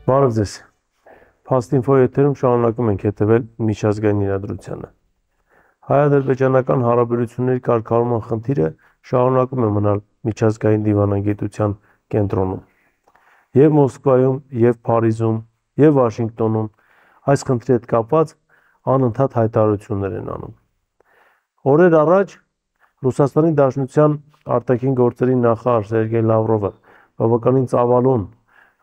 Բարև ձեզ։ Փաստինֆո եթերում շարունակում ենք հետևել միջազգային իրադրությանը։ Հայ-ադրբեջանական հարաբերությունների կարգավորման խնդիրը շարունակում է մնալ միջազգային դիվանագիտության կենտրոնում։ Եվ Մոսկվայում, եւ Փարիզում, եւ Վաշինգտոնում այս խնդրի հետ կապված անընդհատ հայտարարություններ են անում։ Օրեր առաջ Ռուսաստանի Դաշնության արտաքին գործերի նախարար Սերգեյ Լավրովը բավականին ծավալուն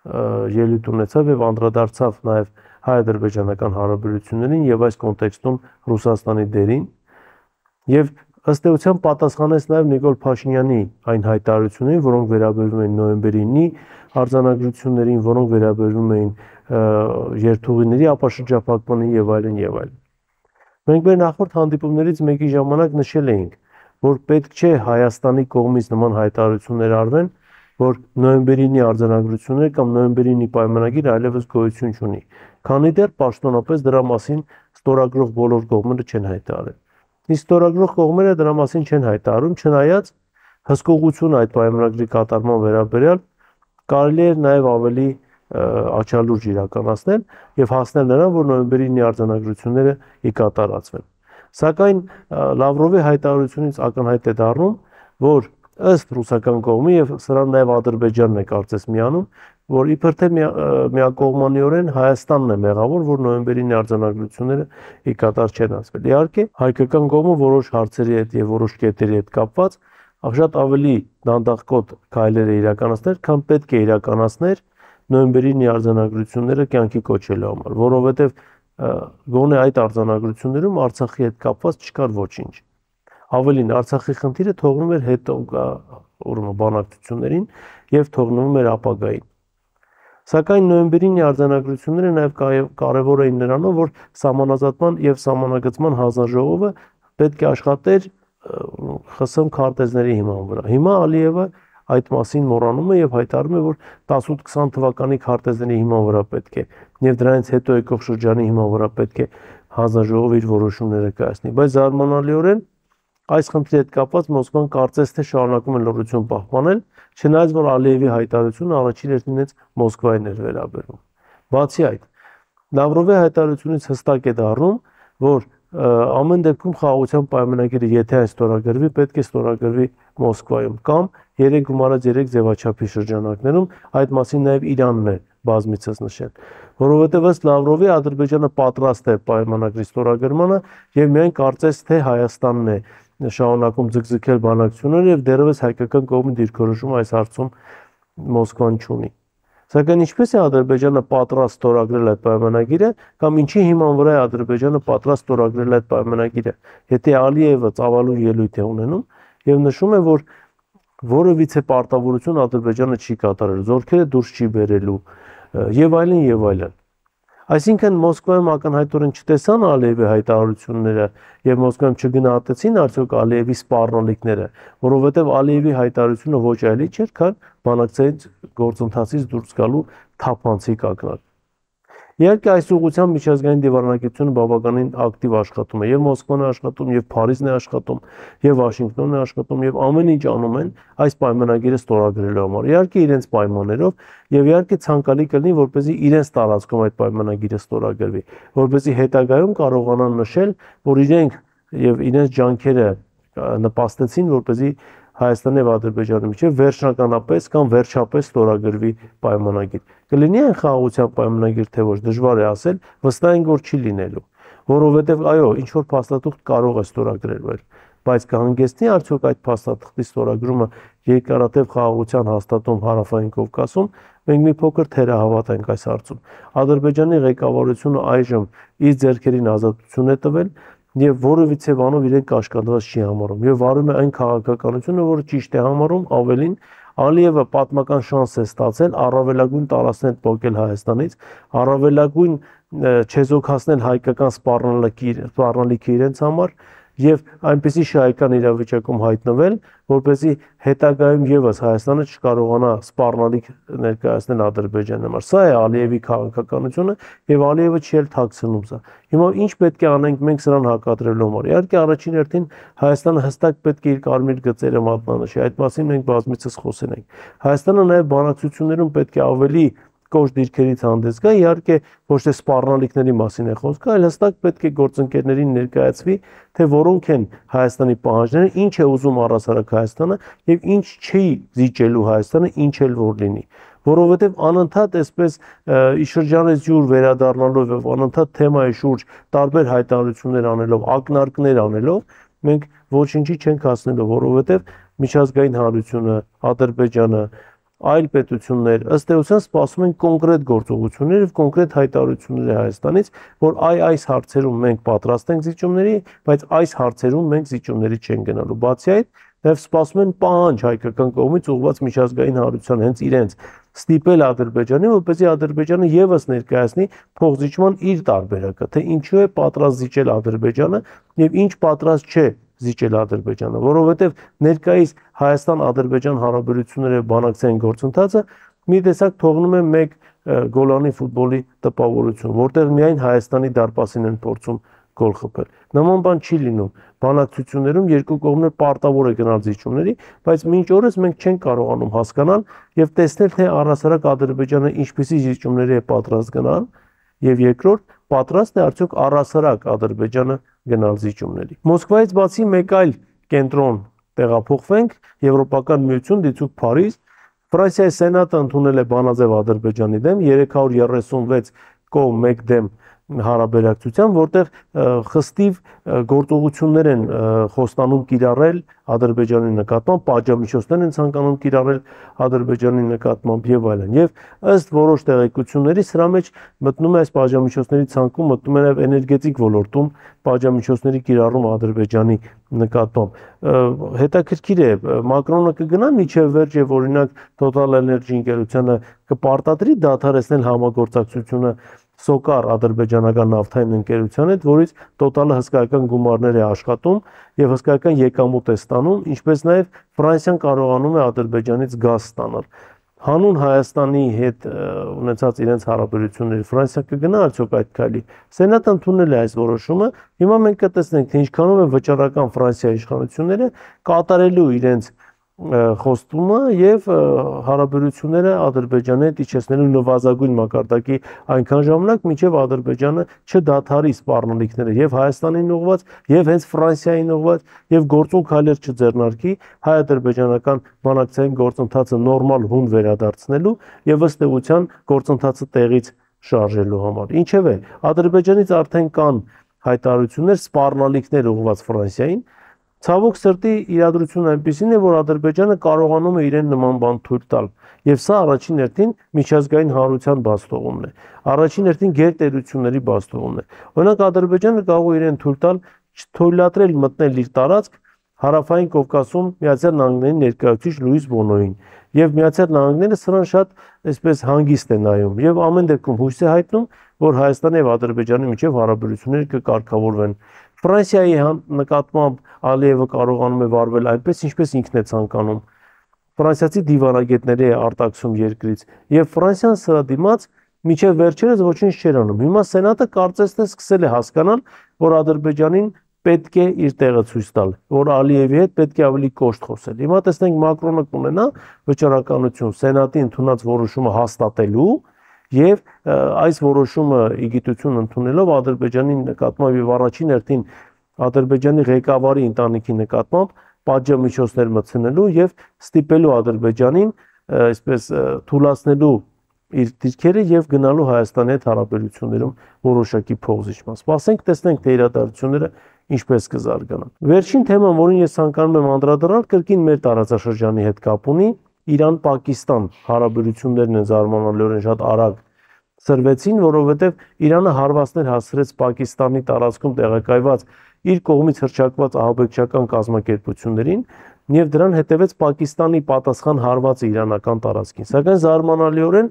ելույթ ունեցավ եւ անդրադարձավ նաեւ հայ-ադրբեջանական հարաբերություններին եւ այս կոնտեքստում Ռուսաստանի դերին եւ ըստ էության պատասխանեց նաեւ Նիկոլ Փաշինյանի այն հայտարարություններին, որոնք վերաբերում են նոյեմբերի 9-ի արձանագրություններին, որոնք վերաբերում էին երթուղիների ապաշրջափակմանին եւ այլն եւ այլն։ Մենք մեր նախորդ հանդիպումներից մեկի ժամանակ նշել էինք, որ պետք չէ Հայաստանի կողմից նման հայտարարություններ արվեն, որ նոյեմբերի 9-ի արձանագրությունները կամ նոյեմբերի 9-ի պայմանագիրը այլևս գոյություն չունի, քանի դեռ պաշտոնապես դրա մասին ստորագրող բոլոր կողմերը չեն հայտարարել։ Իսկ ստորագրող կողմերը դրա մասին չեն հայտարարում, չնայած հսկողություն այդ պայմանագրի կատարման վերաբերյալ կարելի է նաև ավելի աչալուրջ իրականացնել եւ հասնել նրան, որ նոյեմբերի 9-ի արձանագրությունները ի կատարածվեն։ Սակայն Լավրովի հայտարարությունից ակնհայտ է դառնում, որ ըստ ռուսական կողմի եւ սրան նաև Ադրբեջանն է կարծես միանում, որ իբր թե միակողմանիորեն Հայաստանն է մեղավոր, որ նոյեմբերի 9-ի արձանագրությունները ի կատար չեն ասվել։ Իհարկե, հայկական կողմը որոշ հարցերի հետ եւ որոշ կետերի հետ կապված շատ ավելի դանդաղկոտ քայլեր է իրականացնել, քան պետք է իրականացներ նոյեմբերի 9-ի արձանագրությունները կյանքի կոչելու համար, որովհետեւ գոնե այդ արձանագրություններում Արցախի հետ կապված չկար ոչինչ։ Ավելին, Արցախի խնդիրը թողնում էր հետո բանակցություններին եւ թողնում էր ապագային։ Սակայն նոյեմբերի 9-ի արձանագրությունները նաեւ կարեւոր էին նրանով, որ սահմանազատման եւ սահմանագծման հանձնաժողովը պետք է աշխատեր ԽՍՀՄ քարտեզների հիման վրա։ Հիմա Ալիևը այդ մասին մոռանում է եւ հայտարարում է, որ 18-20 թվականի քարտեզների հիման վրա պետք է եւ դրանից հետո եկող շրջանի հիման վրա պետք է հանձնաժողովը իր որոշումները կայացնի։ Բայց զարմանալիորեն այս խնդրի հետ կապված Մոսկվան կարծես թե շարունակում է լռություն պահպանել, չնայած որ Ալիևի հայտարարությունը առաջին հերթին Մոսկվային էր վերաբերում։ Բացի այդ, Լավրովի հայտարարությունից հստակ է դառնում, որ ամեն դեպքում խաղաղության պայմանագիրը եթե այն ստորագրվի, պետք է ստորագրվի Մոսկվայում կամ 3+3 ձևաչափի շրջանակներում, այդ մասին նաև Իրանն է բազմիցս նշել, որովհետև ըստ Լավրովի Ադրբեջանը պատրաստ է պայմանագրի ստորագրմանը եւ միայն կարծես թե Հայաստանն է շարունակում ձգձգել բանակցությունները եւ դեռևս հայկական կողմի դիրքորոշումը այս հարցում Մոսկվան չունի։ Սակայն ինչպես է Ադրբեջանը պատրաստ ստորագրել այդ պայմանագիրը կամ ինչի հիման վրա է Ադրբեջանը պատրաստ ստորագրել այդ պայմանագիրը, եթե Ալիևը ծավալուն ելույթ է ունենում եւ նշում է, որ որևիցե պարտավորություն Ադրբեջանը չի կատարել, զորքերը դուրս չի բերելու եւ այլն եւ այլն։ Այսինքն Մոսկվայում ակնհայտորեն չտեսան Ալիևի հայտարարությունները եւ Մոսկվայում չգնահատեցին արդյոք Ալիևի սպառնալիքները, որովհետեւ Ալիևի հայտարարությունը ոչ այլ չէր, քան բանակցային գործընթացից դուրս գալու թափանցիկ ակնարկ։ Իհարկե այս ուղղությամբ միջազգային դիվանագիտությունը բավականին ակտիվ աշխատում է, եւ Մոսկվան է աշխատում, եւ Փարիզն է աշխատում, եւ Վաշինգտոնն է աշխատում, եւ ամեն ինչ անում են այս պայմանագիրը ստորագրելու համար։ Իհարկե իրենց պայմաններով եւ իհարկե ցանկալի կլինի, որպեսզի իրենց տարածքում այդ պայմանագիրը ստորագրվի, որպեսզի հետագայում կարողանան նշել, որ իրենք եւ իրենց ջանքերը նպաստեցին, որպեսզի Հայաստանի եւ Ադրբեջանի միջեւ վերջնականապես կամ վերջապես ստորագրվի պայմանագիր։ Կլինի այն խաղաղության պայմանագիր թե ոչ, դժվար է ասել, վստահ ենք որ չի լինելու, որովհետեւ այո, ինչ որ փաստաթուղթ կարող է ստորագրել, բայց կհանգեցնի արդյոք այդ փաստաթղթի ստորագրումը երկարատև խաղաղության հաստատում Հարավային Կովկասում, մենք մի փոքր թերահավատ ենք այս հարցում։ Ադրբեջանի ղեկավարությունը այժմ իր ձեռքերին ազատություն է տվել եւ որևիցե բանով իրեն կաշկանդված չի համարում եւ վարում է այն քաղաքականությունը, որը ճիշտ է համարում, ավելին Ալիևը պատմական շանս է ստացել առավելագույն տարածքներ փոկել Հայաստանից, առավելագույն չեզոքացնել հայկական սպառնալիքը իրենց համար եւ այնպեսի շահեկան իրավիճակում հայտնվել, որպեսզի հետագայում եւս Հայաստանը չկարողանա սպառնալիք ներկայացնել Ադրբեջանի համար։ Սա է Ալիևի քաղաքականությունը եւ Ալիևը չի էլ թաքցնում սա։ Հիմա ինչ պետք է անենք մենք սրան հակադրելու համար։ Իհարկե առաջին հերթին Հայաստանը հստակ պետք է իր կարմիր գծերը մատնանշի։ Այդ մասին մենք բազմիցս խոսել ենք։ Հայաստանը նաեւ բանակցություններում պետք է ավելի կոշտ դիրքերից հանդես գա, իհարկե ոչ թե սպառնալիքների մասին է խոսքը, այլ հստակ պետք է գործընկերներին ներկայացվի, թե որոնք են Հայաստանի պահանջները, ինչ է ուզում առհասարակ Հայաստանը եւ ինչ չի զիջելու Հայաստանը, ինչ էլ որ լինի, որովհետեւ անընդհատ այսպես շրջանից յուր վերադառնալով եւ անընդհատ թեմայի շուրջ տարբեր հայտարարություններ անելով, ակնարկներ անելով, մենք ոչինչի չենք հասնելու, որովհետեւ միջազգային հանրությունը, Ադրբեջանը, այլ պետություններ ըստ էության սպասում են կոնկրետ գործողություններ եւ կոնկրետ հայտարարություններ Հայաստանից, որ այս հարցերում մենք պատրաստ ենք զիջումների, բայց այս հարցերում մենք զիջումների չենք գնալու։ Բացի այդ, նաև սպասում են պահանջ հայկական կողմից ուղղված միջազգային հանրության հենց իրենց ստիպել Ադրբեջանին, որպեսզի Ադրբեջանը եւս ներկայացնի փոխզիջման իր տարբերակը, թե ինչու է պատրաստ զիջել Ադրբեջանը եւ ինչ պատրաստ չէ զիջել Ադրբեջանը, որովհետեւ ներկայիս Հայաստան-Ադրբեջան հարաբերությունների բանակցային գործընթացը մի տեսակ թողնում է մեկ Գոլանի ֆուտբոլի տպավորություն, որտեղ միայն Հայաստանի դարպասին են փորձում գոլ խփել։ Նման բան չի լինում։ Բանակցություններում երկու կողմներ պարտավոր է գնալ զիջումների, բայց մինչ օրս մենք չենք կարողանում հասկանալ եւ տեսնել, թե առհասարակ Ադրբեջանը ինչպիսի զիջումների է պատրաստ գնալ, եւ երկրորդ, պատրաստ է արդյոք առհասարակ Ադրբեջանը գնալ զիջումների։ Մոսկվայից բացի մեկ այլ կենտրոն տեղափոխվենք, Եվրոպական միություն դիցուք Փարիզ, Ֆրանսիայի սենատը ընդունել է բանաձև Ադրբեջանի դեմ 336 կողմ 1 դեմ հարաբերակցության, որտեղ խստիվ գործողություններ են խոստանում կիրառել Ադրբեջանի նկատմամբ, պատժամիջոցներ են ցանկանում կիրառել Ադրբեջանի նկատմամբ եւ այլն։ Եվ ըստ որոշ տեղեկությունների սրա մեջ մտնում է այս պատժամիջոցների ցանկում, մտնում է նաեւ էներգետիկ ոլորտում պատժամիջոցների կիրառում Ադրբեջանի նկատմամբ։ Հետաքրքիր է, Մակրոնը կգնա միջև վերջ եւ օրինակ Total Energy ընկերությանը կպարտադրի դադարեցնել համագործակցությունը Սոկար ադրբեջանական նավթային ընկերության հետ, որից Total-ը հսկայական գումարներ է աշխատում եւ հսկայական եկամուտ է ստանում, ինչպես նաեւ Ֆրանսիան կարողանում է Ադրբեջանից գազ ստանալ։ Հանուն Հայաստանի հետ ունեցած իրենց հարաբերությունների Ֆրանսիա կգնա արդյոք այդ քայլի։ Սենատը ընդունել է այս որոշումը, հիմա մենք կտեսնենք, թե ինչքանով են վճռական Ֆրանսիայի իշխանությունները կատարելու իրենց խոստումը եւ հարաբերությունները Ադրբեջանի հետ իջեցնելու նվազագույն մակարդակի այնքան ժամանակ, մինչեւ Ադրբեջանը չդադարի սպառնալիքները եւ Հայաստանին ուղղված, եւ հենց Ֆրանսիային ուղղված, եւ գործուն քայլեր չձեռնարկի հայ-ադրբեջանական բանակցային գործընթացը նորմալ հուն վերադարձնելու եւ ըստ էության գործընթացը տեղից շարժելու համար։ Ինչևէ, Ադրբեջանից արդեն կան հայտարարություններ, սպառնալիքներ ուղղված Ֆրանսիային։ Ցավոք սրտի իրադրությունն այնպեսին է, որ Ադրբեջանը կարողանում է իրեն նման բան թույլ տալ, եւ սա առաջին հերթին միջազգային հանրության բացթողումն է, առաջին հերթին գերտերությունների բացթողումն է։ Օրինակ Ադրբեջանը կարող է իրեն թույլ տալ չթույլատրել մտնել իր տարածք Հարավային Կովկասում Միացյալ Նահանգների ներկայացուցիչ Լուիս Բոնոյին, եւ Միացյալ Նահանգները սրան շատ այսպես հանգիստ է նայում եւ ամեն դեպքում հույս է հայտնում, որ Հայաստանի եւ Ադրբեջանի միջև հարաբերությունները կկարգավորվեն։ Ֆրանսիայի նկատմամբ Ալիևը կարողանում է վարվել այնպես, ինչպես ինքն է ցանկանում։ Ֆրանսիացի դիվանագետների է արտաքսում երկրից եւ Ֆրանսիան սրա դիմաց միջև վերջերս ոչինչ չէր անում։ Հիմա Սենատը կարծես թե սկսել է հասկանալ, որ Ադրբեջանին պետք է իր տեղը ցույց տալ, որ Ալիևի հետ պետք է ավելի կոշտ խոսել։ Հիմա տեսնենք Մակրոնը կունենա վճռականություն Սենատի ընդունած որոշումը հաստատելու եւ այս որոշումը իգիտություն ընդունելով Ադրբեջանի նկատմամբ եւ առաջին հերթին Ադրբեջանի ղեկավարի ընտանիքի նկատմամբ պատժամիջոցներ մտցնելու եւ ստիպելու Ադրբեջանին այսպես թույլատնելու իր դիրքերը եւ գնալու Հայաստանի հետ հարաբերություններում որոշակի փոխզիջման։ Սպասենք, տեսնենք թե իրադարձությունները ինչպես կզարգանան։ Վերջին թեման, որին ես ցանկանում եմ անդրադառնալ, կրկին մեր տարածաշրջանի հետ կապ ունի, Իրան-Պակիստան հարաբերություններն են զարմանալիորեն շատ արագ սրվեցին, որովհետև Իրանը հարվածներ հասցրեց Պակիստանի տարածքում տեղակայված իր կողմից հռչակված ահաբեկչական կազմակերպություններին եւ դրան հետևեց Պակիստանի պատասխան հարվածը իրանական տարածքին։ Սակայն զարմանալիորեն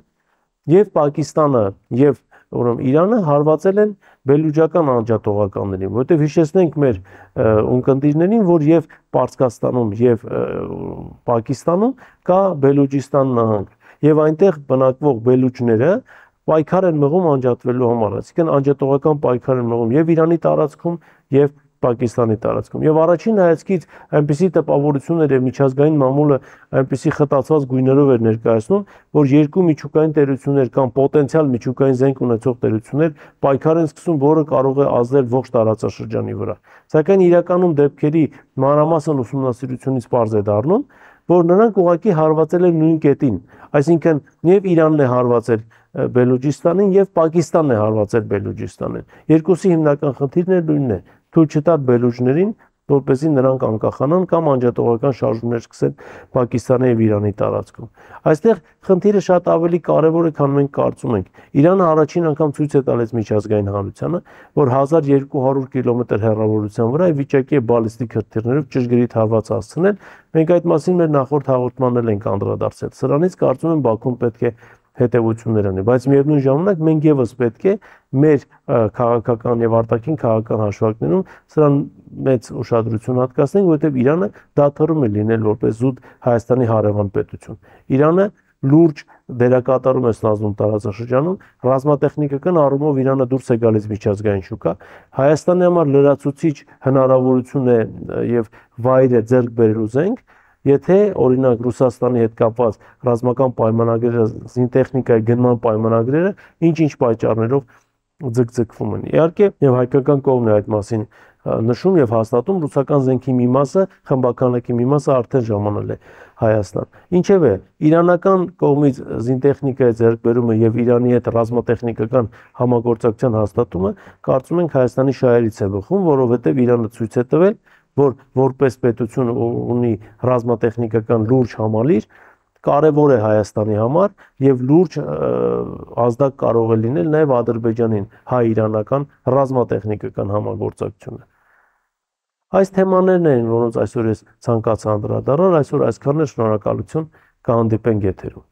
եւ Պակիստանը եւ ուրեմն Իրանը հարվածել են բելուջական անջատողականներին, որովհետև հիշեցնենք մեր ունկնդիրներին, որ եւ Պարսկաստանում եւ Պակիստանում կա Բելուջիստան նահանգ եւ այնտեղ բնակվող բելուջները պայքար են մղում անջատվելու համար, այսինքն անջատողական պայքար են մղում եւ Իրանի տարածքում եւ Պակիստանի տարածքում։ Եվ առաջին հայացքից այնպիսի տպավորություններ եւ միջազգային մամուլը այնպիսի խտացված գույներով էր ներկայացնում, որ երկու միջուկային տերություններ կամ պոտենցիալ միջուկային զենք ունեցող տերություններ պայքար են սկսում, որը կարող է ազդել ողջ տարածաշրջանի վրա։ Սակայն իրականում դեպքերի մանրամասն ուսումնասիրությունից պարզ է դառնում, որ նրանք ուղղակի հարվածել են նույն կետին, այսինքն եւ Իրանն է հարվածել Բելուջիստանին եւ Պակիստանն է հարվածել Բելուջիստանին։ Երկուսի հիմնական խնդիրն նույնն է՝ թույլ չտալ բելուջներին, որպեսզի նրանք անկախանան կամ անջատողական շարժումներ սկսեն Պակիստանի եւ Իրանի տարածքում։ Այստեղ խնդիրը շատ ավելի կարեւոր է, քան մենք կարծում ենք։ Իրանը առաջին անգամ ցույց է տալիս միջազգային հանրությանը, որ 1200 կիլոմետր հեռավորության վրա է վիճակի է բալիստիկ հրթիռներով ճշգրիտ հարված հասցնել։ Մենք այդ մասին մեր նախորդ հաղորդմանն էլ ենք անդրադարձել։ Սրանից կարծում եմ Բաքուն պետք է հետևություններ ունի, բայց միևնույն ժամանակ մենք եւս պետք է մեր քաղաքական եւ արտաքին քաղաքական հաշվարկներում սրան մեծ ուշադրություն հատկացնենք, որովհետեւ Իրանը դադարում է լինել որպես զուտ Հայաստանի հարևան պետություն։ Իրանը լուրջ դերակատարում է ստանձնում տարածաշրջանում, ռազմատեխնիկական առումով Իրանը դուրս է գալիս միջազգային շուկա, Հայաստանի համար լրացուցիչ հնարավորություն է եւ վայր է ձեռք բերելու զենք, եթե օրինակ Ռուսաստանի հետ կապված ռազմական պայմանագրերը, զինտեխնիկայի գնման պայմանագրերը ինչ-ինչ պատճառներով ձգձգվում են։ Իհարկե, եւ հայկական կողմն է այդ մասին նշում եւ հաստատում, ռուսական զենքի մի մասը, խմբականակի մի մասը արդեն ժամանել է Հայաստան։ Ինչևէ, իրանական կողմից զինտեխնիկայի ձեռքբերումը եւ Իրանի հետ ռազմատեխնիկական համագործակցության հաստատումը կարծում ենք Հայաստանի շահերից է բխում, որովհետեւ Իրանը ցույց է տվել, որ որպես պետություն ունի ռազմատեխնիկական լուրջ համալիր, կարևոր է Հայաստանի համար եւ լուրջ ազդակ կարող է լինել նաեւ Ադրբեջանին հայ-իրանական ռազմատեխնիկական համագործակցությունը։ Այս թեմաներն են, որոնց այսօր ես ցանկացա անդրադառնալ, այսօր այսքանն է, շնորհակալություն, կհանդիպենք եթերում։